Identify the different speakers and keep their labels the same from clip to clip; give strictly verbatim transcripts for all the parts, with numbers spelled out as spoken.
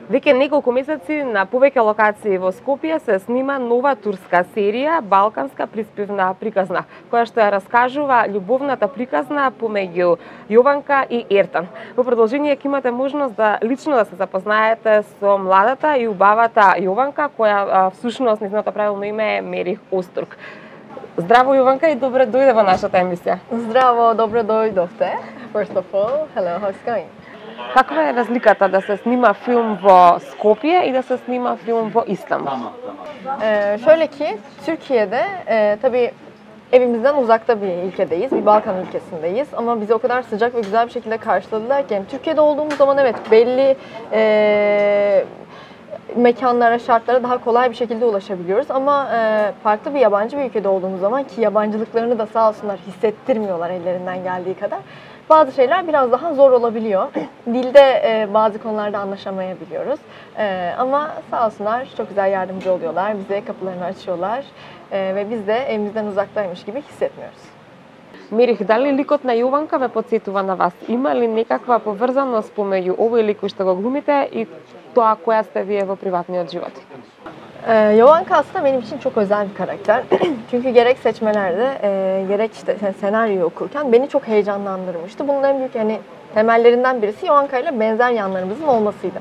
Speaker 1: Веќе неколку месеци на повеќе локации во Скопје се снима нова турска серија Балканска приспевна приказна, која што ја раскажува љубовната приказна помеѓу Јованка и Ертан. Во продолжение ќе имате можност да лично да се запознаете со младата и убавата Јованка, која всушност незиното правилно име е Мерих Остург. Здраво Јованка и добре дојде во нашата емисија.
Speaker 2: Здраво, добре дојдовте. First of all, hello, how's it going?
Speaker 1: Каква е разликата да се снима филm во Skopje и да se snima film во İstanbul?
Speaker 2: Ee, şöyle ki, Türkiye'de e, tabii evimizden uzakta bir ülkedeyiz, bir Balkan ülkesindeyiz ama bizi o kadar sıcak ve güzel bir şekilde karşıladılar ki, yani Türkiye'de olduğumuz zaman evet belli e, mekanlara, şartlara daha kolay bir şekilde ulaşabiliyoruz ama e, farklı bir yabancı bir ülkede olduğumuz zaman ki yabancılıklarını da sağ olsunlar hissettirmiyorlar ellerinden geldiği kadar. Bazı şeyler biraz daha zor olabiliyor. Dilde e, bazı konularda anlaşamayabiliyoruz. E, ama sağ olsunlar çok güzel yardımcı oluyorlar. Bize kapılarını açıyorlar. E, ve biz de evimizden uzaktaymış gibi hissetmiyoruz.
Speaker 1: Мерих, дали ликот на Јованка ве потсетува на вас? Има ли некаква поврзаност помеѓу овој лик кој што го глумите и тоа која сте вие во приватниот живот?
Speaker 2: Ee, Jovanka aslında benim için çok özel bir karakter. Çünkü gerek seçmelerde, e, gerek işte senaryoyu okurken beni çok heyecanlandırmıştı. Bunun en büyük yani temellerinden birisi Jovanka ile benzer yanlarımızın olmasıydı.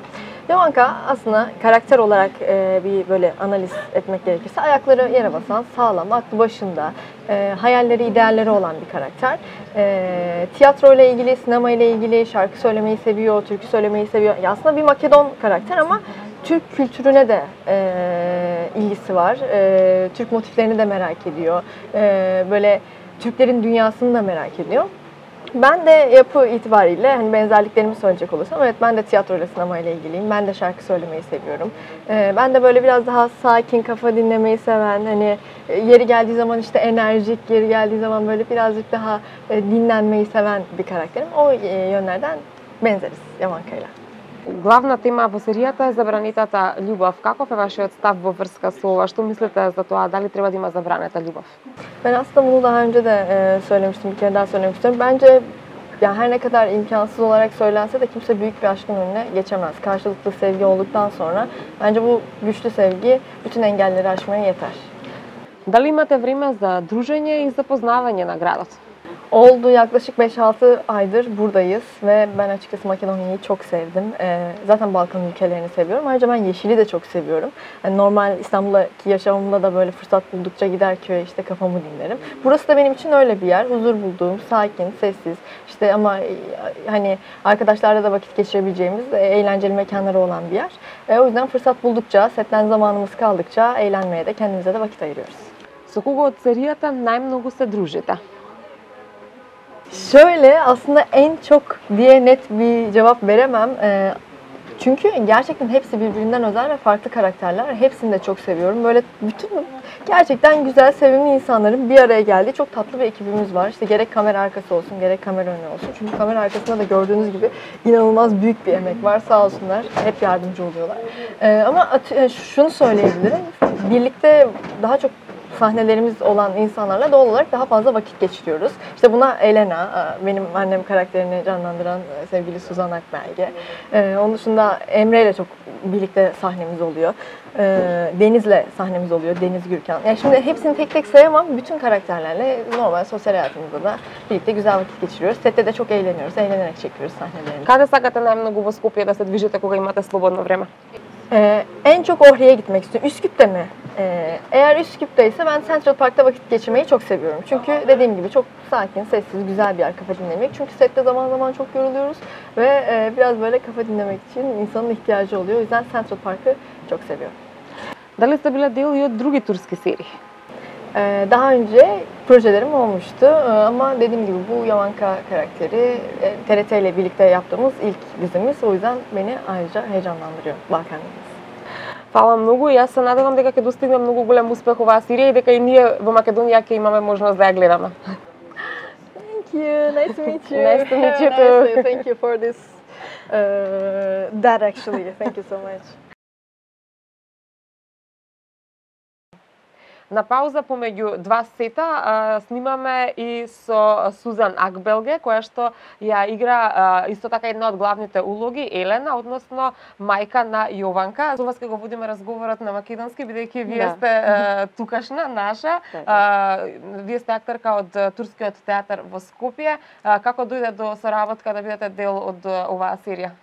Speaker 2: Jovanka aslında karakter olarak e, bir böyle analiz etmek gerekirse ayakları yere basan, sağlam, aklı başında, e, hayalleri, idealleri olan bir karakter. E, tiyatro ile ilgili, sinema ile ilgili, şarkı söylemeyi seviyor, türkü söylemeyi seviyor. Ya aslında bir Makedon karakter ama Türk kültürüne de e, ilgisi var. E, Türk motiflerini de merak ediyor. E, böyle Türklerin dünyasını da merak ediyor. Ben de yapı itibariyle hani benzerliklerimi söyleyecek olursam evet ben de tiyatro ile sinema ile ilgiliyim. Ben de şarkı söylemeyi seviyorum. E, ben de böyle biraz daha sakin, kafa dinlemeyi seven, hani yeri geldiği zaman işte enerjik, yeri geldiği zaman böyle birazcık daha e, dinlenmeyi seven bir karakterim. O e, yönlerden benzeriz Jovanka'yla.
Speaker 1: Главна тема во серијата е забранетата љубов. Каков е вашиот став во врска со ова? Што мислите за тоа? Дали треба да има забранета љубов?
Speaker 2: Ben aslında bunu daha önce de e, söylemiştim, bir kere daha söylemek istiyorum. Bence ya her ne kadar imkansız olarak söylense de kimse büyük bir aşkın önüne geçemez. Karşılıklı sevgi olduktan sonra bence bu güçlü sevgi bütün engelleri aşmaya yeter.
Speaker 1: Дали имате време за дружење и запознавање на градот?
Speaker 2: Oldu, yaklaşık beş altı aydır buradayız ve ben açıkçası Makedonya'yı çok sevdim. Ee, zaten Balkan ülkelerini seviyorum. Ayrıca ben yeşili de çok seviyorum. Yani normal İstanbul'daki yaşamımda da böyle fırsat buldukça gider köye işte kafamı dinlerim. Burası da benim için öyle bir yer. Huzur bulduğum, sakin, sessiz. İşte ama hani arkadaşlarla da vakit geçirebileceğimiz eğlenceli mekanları olan bir yer. Ee, o yüzden fırsat buldukça, setten zamanımız kaldıkça eğlenmeye de kendimize de vakit ayırıyoruz.
Speaker 1: Со кого од серијата најмногу се дружите?
Speaker 2: Şöyle aslında en çok diye net bir cevap veremem. Ee, çünkü gerçekten hepsi birbirinden özel ve farklı karakterler. Hepsini de çok seviyorum. Böyle bütün gerçekten güzel, sevimli insanların bir araya geldiği çok tatlı bir ekibimiz var. İşte gerek kamera arkası olsun, gerek kamera önü olsun. Çünkü kamera arkasında da gördüğünüz gibi inanılmaz büyük bir emek var. Sağ olsunlar. Hep yardımcı oluyorlar. Ee, ama şunu söyleyebilirim. Birlikte daha çok sahnelerimiz olan insanlarla doğal olarak daha fazla vakit geçiriyoruz. İşte buna Elena, benim annem karakterini canlandıran sevgili Suzan Akbelge. Ee, onun dışında Emre ile çok birlikte sahnemiz oluyor. Ee, Deniz'le sahnemiz oluyor, Deniz Gürkan. Yani şimdi hepsini tek tek sayamam. Bütün karakterlerle normal sosyal hayatımızda da birlikte güzel vakit geçiriyoruz. Sette de çok eğleniyoruz, eğlenerek çekiyoruz sahnelerimizi.
Speaker 1: Каде сакате најмногу во Скопје да се движите кога имате слободно време?
Speaker 2: Ee, en çok Ohri'ye gitmek istiyorum. Üsküp'te mi? Ee, eğer Üsküp'teyse ben Central Park'ta vakit geçirmeyi çok seviyorum. Çünkü dediğim gibi çok sakin, sessiz, güzel bir yer kafa dinlemek. Çünkü sette zaman zaman çok yoruluyoruz ve e, biraz böyle kafa dinlemek için insanın ihtiyacı oluyor. O yüzden Central Park'ı çok seviyorum.
Speaker 1: Дали сте биле дел и од други турски серии?
Speaker 2: Ee, daha önce projelerim olmuştu ee, ama dediğim gibi bu Jovanka karakteri e, T R T ile birlikte yaptığımız ilk dizimiz. O yüzden beni ayrıca heyecanlandırıyor Balkan dizisi.
Speaker 1: Фала многу и јас се надевам дека ќе достигне многу голем успех оваа серија и дека и ние во Македонија ќе имаме можност да ја гледаме.
Speaker 2: Thank you. Nice to meet you.
Speaker 1: Nice to meet you
Speaker 2: Nice
Speaker 1: too.
Speaker 2: to- Thank you for this. Uh, that actually. Thank you so much.
Speaker 1: На пауза помеѓу два сета а, снимаме и со Сузан Акбелге, која што ја игра а, исто така една од главните улоги, Елена, односно мајка на Јованка. Со вас ќе го водиме разговорот на македонски, бидејќи вие
Speaker 2: Да.
Speaker 1: сте а, тукашна, наша. А, вие сте актерка од турскиот театар во Скопје. А, како дојде до соработка да бидете дел од а, оваа серија?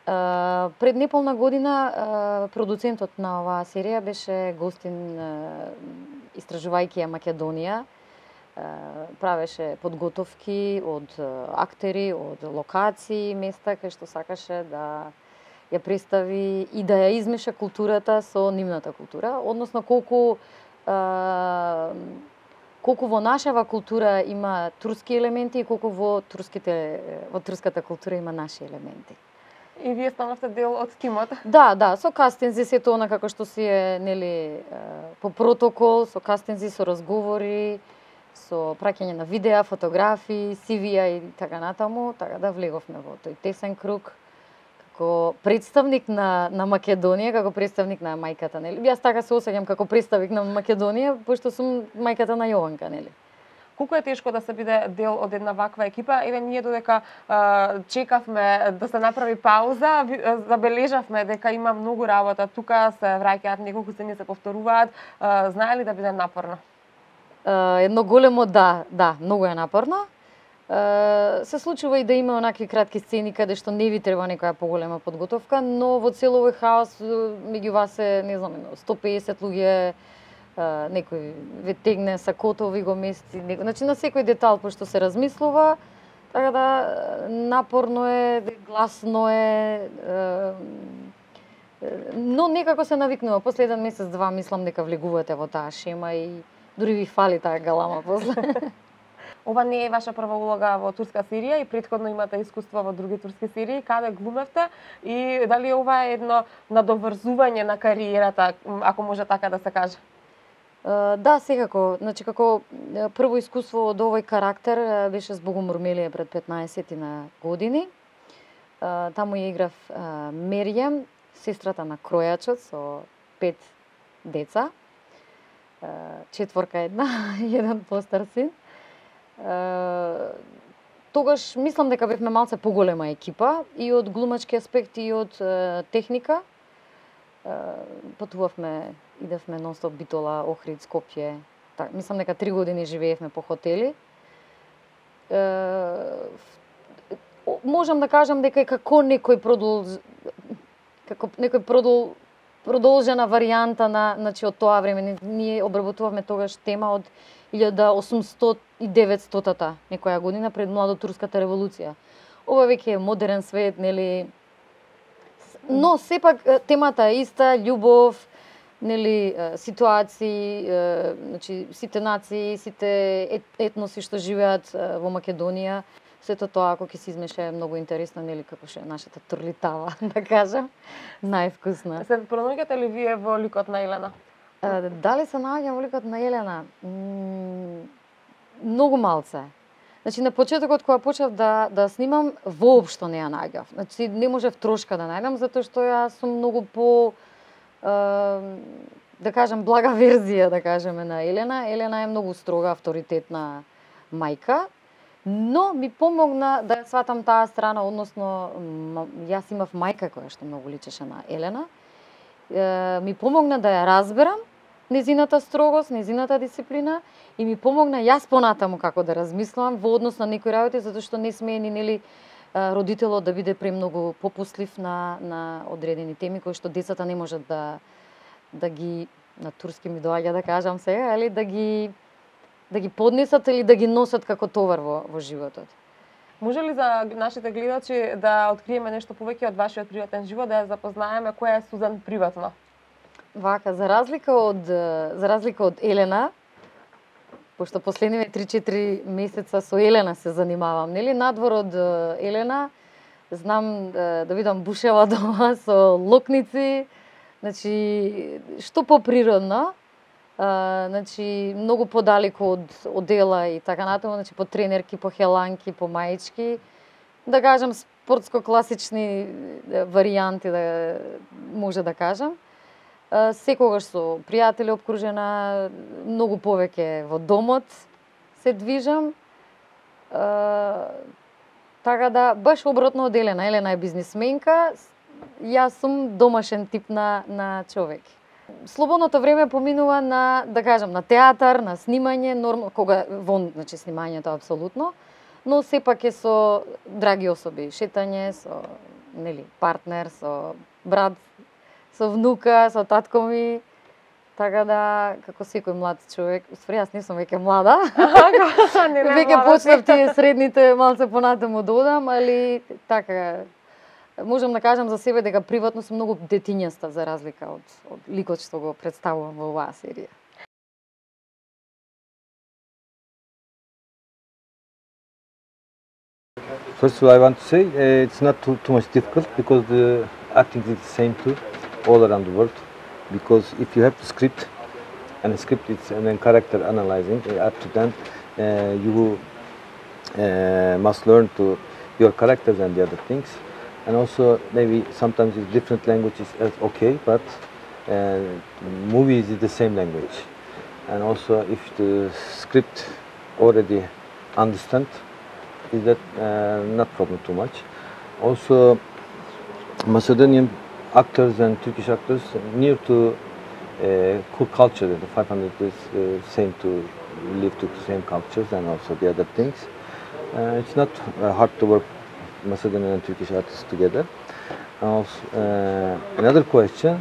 Speaker 3: Uh, пред неполна година uh, продуцентот на оваа серија беше гостин uh, истражувајќи ја Македонија. Uh, правеше подготовки од uh, актери, од локации, места кај што сакаше да ја представи и да ја измеша културата со нивната култура, односно колку uh, колку во нашава култура има турски елементи и колку во турските во турската култура има наши елементи.
Speaker 1: И вие станавте дел од тимот?
Speaker 3: Да, да, со кастинзи, сето она како што си е, нели, по протокол, со кастинзи, со разговори, со праќање на видеа, фотографии, си ви-а и така натаму, така да влеговме во тој тесен круг како представник на на Македонија, како представник на мајката, нели? Јас така се осеќам како представник на Македонија, пошто сум мајката на Јованка, нели?
Speaker 1: Колку е тешко да се биде дел од една ваква екипа? Еве ние додека а, чекавме да се направи пауза, забележавме дека има многу работа. Тука се враќаат неколку сцени, се повторуваат. А, знае ли да биде напорно?
Speaker 3: Uh, едно големо да, да, многу е напорно. Uh, се случува и да има онакви кратки сцени каде што не ви треба некоја поголема подготовка, но во цел овој хаос меѓу вас е, не знам, сто и песет луѓе, Uh, некој ве тегне сакото, ви го мести, некој... Значи на секој детал пошто се размислува, така да напорно е, гласно е, uh, но некако се навикнува. После еден месец, два, мислам дека влегувате во таа шема и дури ви фали таа галама после.
Speaker 1: Ова не е ваша прва улога во турска серија и претходно имате искуство во други турски серии. Каде глумевте и дали ова е едно надоврзување на кариерата, ако може така да се каже?
Speaker 3: Uh, да, секако. Значи, како прво искуство од овој карактер беше збогом Румелија пред петнаесет на години. Uh, таму ја играв uh, Меријам, сестрата на кројачот со пет деца. Uh, четворка една и еден постар син. Uh, тогаш мислам дека бевме малце поголема екипа и од глумачки аспект и од uh, техника. Uh, патувавме, идевме нон-стоп Битола, Охрид, Скопје. Так, мислам дека три години живеевме по хотели. Uh, можам да кажам дека како некој продол како некој продол продолжена варијанта на, значи од тоа време ние обработувавме тогаш тема од илјада осумстотина и деветстотата некоја година пред младотурската револуција. Ова веќе е модерен свет, нели? Но сепак темата е иста, љубов, нели, ситуации, значи сите нации, сите етноси што живеат во Македонија, сето тоа ако ќе се измеша е многу интересно, нели, како ше нашата турлитава, да кажам, највкусна.
Speaker 1: Се пронаѓате ли вие во ликот на Елена?
Speaker 3: Дали се наоѓам во ликот на Елена? Многу малце. Значи, на почетокот, кога почнав да, да снимам, воопшто не ја најдов. Значи, не можев трошка да најдам, затоа што јас сум многу по, е, да кажам, блага верзија, да кажеме, на Елена. Елена е многу строга, авторитетна мајка, но ми помогна да ја сватам таа страна, односно, јас имав мајка која што многу личеше на Елена. Е, ми помогна да ја разберам, незината строгост, незината дисциплина и ми помогна јас понатаму како да размислам во однос на некои работи, затоа што не смее ни, нели, родителот да биде премногу попуслив на на одредени теми кои што децата не можат да да ги, на турски ми доаѓа да кажам сега, али да ги да ги поднесат или да ги носат како товар во во животот.
Speaker 1: Може ли за нашите гледачи да откриеме нешто повеќе од вашиот приватен живот, да ја запознаеме која е Сузан приватно?
Speaker 3: Вака, за разлика од за разлика од Елена, пошто последниве три-четири месеца со Елена се занимавам, нели, надвор од Елена, знам да, да видам бушева дома со локници, значи што поприродно, а, значи многу подалеку од од дела и така натаму, значи по тренерки, по хеланки, по маички, да кажам спортско класични варијанти, да може да кажам. секогаш со пријатели обкружена, многу повеќе во домот се движам. Така да, баш обратно од Елена. Елена е бизнисменка, јас сум домашен тип на, на човек. Слободното време поминува на, да кажам, на театар, на снимање, нормално, кога вон, значи снимањето апсолутно, но сепак е со драги особи, шетање со, нели, партнер, со брат, со внука, со татко ми. Така да, како секој млад човек, уствари јас не сум веќе млада. Веќе почнав тие средните малце понатаму да одам, али така можам да кажам за себе дека приватно сум многу детињаста за разлика од, од ликот што го представувам во оваа серија.
Speaker 4: First of all, I want to say uh, it's not too, too much difficult because the acting is the same too all around the world. Because if you have the script, and the script is and then character analyzing, uh, up to then uh, you uh, must learn to your characters and the other things. And also maybe sometimes it's different languages as okay, but uh, movies is the same language. And also if the script already understand, is that uh, not problem too much. Also Macedonian actors and Turkish actors near to uh, culture. The five hundred is uh, same to live to the same cultures and also the other things. Uh, it's not uh, hard to work Macedonian and Turkish artists together. Also, uh, another question: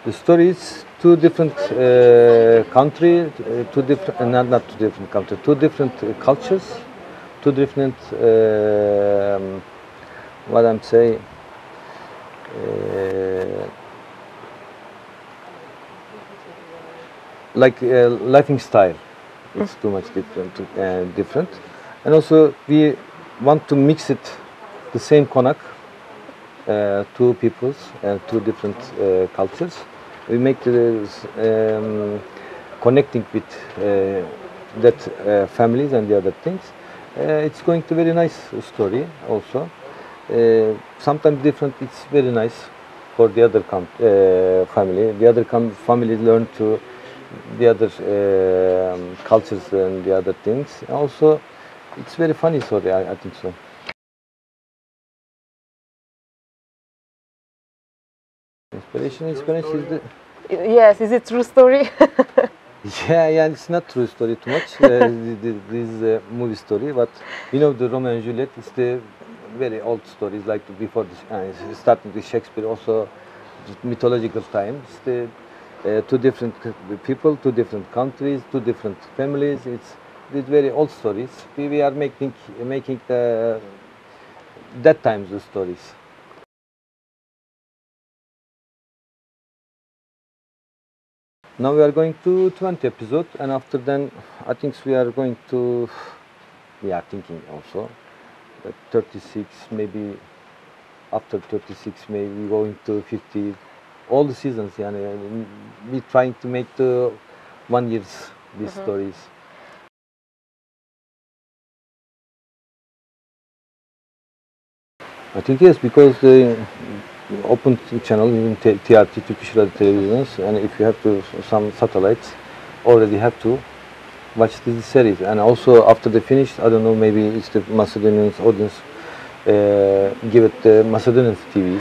Speaker 4: the story is two different uh, countries, uh, two different, uh, not not two different countries, two different uh, cultures, two different. Uh, um, what I'm saying. Uh, like uh, living style, it's too much different, uh, different, and also we want to mix it the same konak, uh, two peoples, uh, two different uh, cultures. We make the um, connecting with uh, that uh, families and the other things. Uh, it's going to very nice story also. Uh, sometimes different, it's very nice for the other uh, family. The other family learn to the other uh, cultures and the other things. Also, it's very funny story, I, I think so. Inspiration, inspiration is the...
Speaker 1: Yes, is it true story?
Speaker 4: Yeah, yeah, it's not true story too much. uh, this is a movie story, but you know the Romeo and Juliet is the very old stories, like before this, uh, starting with Shakespeare, also mythological times. The uh, two different people, two different countries, two different families. It's these very old stories. We, we are making making the that times the stories. Now we are going to twenty episodes, and after then, I think we are going to. We are thinking also. thirty-six, maybe after thirty-six, maybe going to fifty, all the seasons. Yeah, we trying to make the one years these mm-hmm. stories. I think yes, because the open channel in T R T, Turkish Radio televisions, and if you have to some satellites, already have to watch this series. And also after they finish, I don't know, maybe it's the Macedonian audience uh, give it the Macedonian T V.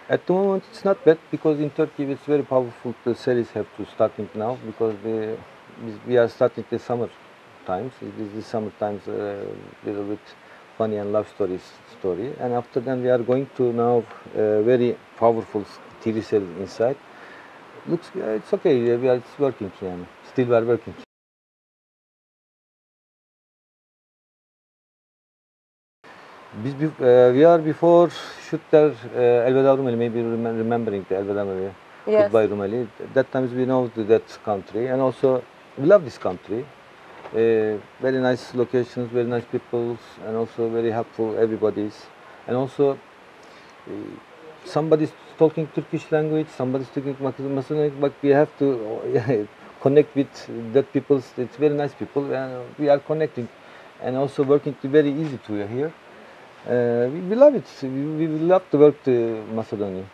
Speaker 4: At the moment it's not bad, because in Turkey it's very powerful. The series have to starting now, because the, we are starting the summer times. It is the summer times a uh, little bit funny and love stories story. And after then we are going to now uh, very powerful T V series inside. Looks, uh, it's okay, we are it's working, yeah. Still we are working. Biz, uh, we are before shoot there uh, Elveda Rumeli, maybe remembering the Elveda Rumeli, yes. Goodbye Rumeli. That times we know that country, and also we love this country. Uh, very nice locations, very nice people, and also very helpful everybody's. And also uh, somebody's talking Turkish language, somebody's speaking Macedonian, but we have to uh, connect with that people. It's very nice people, and we are connecting, and also working very easy to here. Uh, we, we love it. We, we love to work to Macedonia.